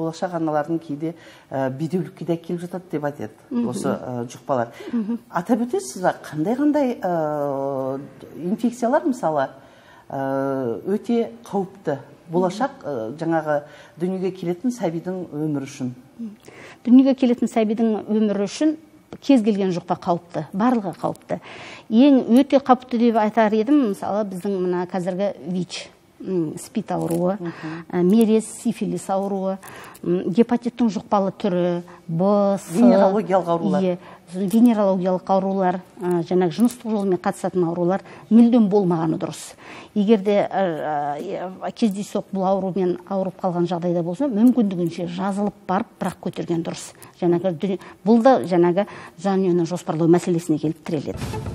болашак аналардын кээде бедеулүккө да келип жатат деп айтат осы жукпалар. Атап өтесизби, кандай инфекциялар мисалы өтө кауіпті болашак жаңағы дүниеге келетін сәбидің өмірі үшін? Дүниеге келетін сәбидің өмірі үшін кез келген жұқпа қауіпті, барлығы қауіпті. Ең өте қауіпті деп айтар едім, мысалы біздің мына қазіргі ВИЧ, спид ауруы, мерез, сифилис ауруы, гепатиттің жұқпалы түрі, венерологиялық аурулар. Венерологиялық аурулар, жаңағы жыныстық жолмен қатысатын аурулар мүлдем болмағаны дұрыс. Егерде кездейсоқ бұл аурумен ауырып қалған жағдайда болса, мүмкіндігінше жазылып барып, бірақ көтерген дұрыс. Бұл да жаңағы жанұяны жоспарлау мәселесіне келіп тіреледі.